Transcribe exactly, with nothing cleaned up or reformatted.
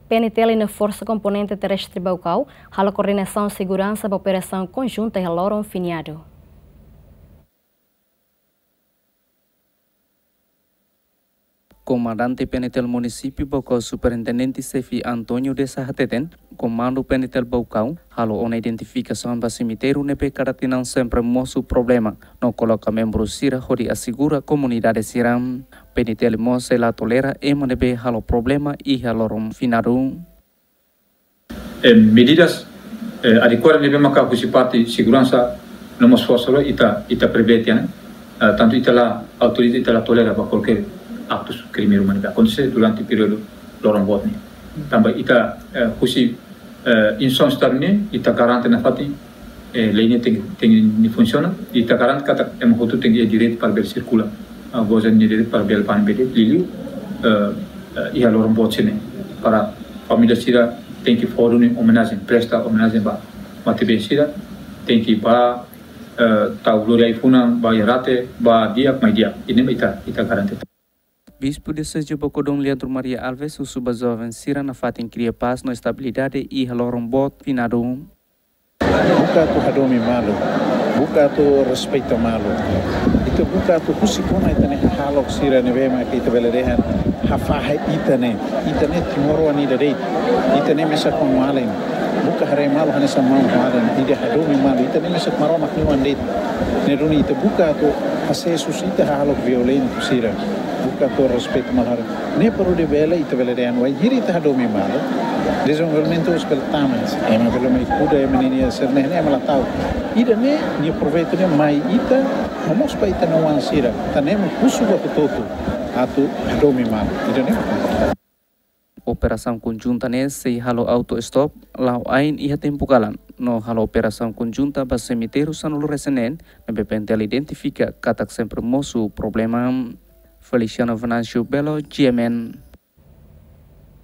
PNTL no Forsa Komponente Terrestre Baucau halo koordenasaun seguransa ba operasaun konjunta iha loron feriadu. Komandante PNTL Munisípiu Baucau, Superintendente Xefe António Dessa hateten, Komandu PNTL Baucau halo ona identifikasaun ba semitériu ne'ebé kada tinan sempre mosu problema, no koloka membru sira hodi asegura komunidade sira. PNTL mós sei la tolera ema ne'ebé halo problema iha loron feriadu. Eh, medidas, eh, adekuadas ne'ebé maka husi parte seguransa no mós forsa ita, ita prevee tiha ona. Eh, tantu ita la autoriza, ita la tolera ba kualkér aktus krime ruma ne'ebé akontese durante períodu loron boot ne'e. Tanba ita, eh, husi, eh, instituisaun Estadu nian, ita garante nafatin, eh, lei ne'e tenke, tenke nia funsiona, ita garante katak ema hotu tenke iha direitu para bele sirkula, ah, goza nia direitu para bele bá ne'ebé de'it, liuliu, eh, eh, iha loron boot sira-ne'e, para família sira tenke fó duni omenajen, presta omenajen ba matebian sira, tenke bá, eh, tau lori ai-funan, bá iha rate, bá di'ak, mai di'ak, ida-ne'e mak ita, ita garante. Bispu Dioseze Baucau Dom Leandro Maria Alves husu ba joven sira nafatin kria pás no estabilidade iha loron boot feriadu. Buka atu hadomi malu, buka atu respeita malu. Ita buka atu husik ona ita-nia hahalok sira ne'ebé mak ita bele dehan hafahe ita-nia, ita-nia timoroan ida de'it, ita-nia mesak maun-alin. Buka haree malu hanesan maun-alin, ida hadomi malu, ita-nia mesak Maromak nia oan de'it. Ne'e duni ita buka atu hasees husi ita hahalok violénsiu sira. Buka atu respeita malu haree. Ne'e para atu bele, ita bele dehan wainhira ita hadomi malu, dezenvolvimentu mós bele tama. Ema bele mai kuda ema ninia sira-ne'e, ne'e ema la ta'uk. Ida-ne'e nia proveitu ne'e mai ita, no mós ba ita-nia oan sira. Entaun ne'e mak husu ba hotu-hotu atu hadomi malu. Ida-ne'e mak. Operasaun konjunta ne'e sei halo auto-stop, la'o ain iha tempu kalan, no halo operasaun konjunta ba semitériu sanulu-resin-neen, ne'ebé PNTL identifika katak sempre mosu problema. Feliciano Venâncio Belo, GMN.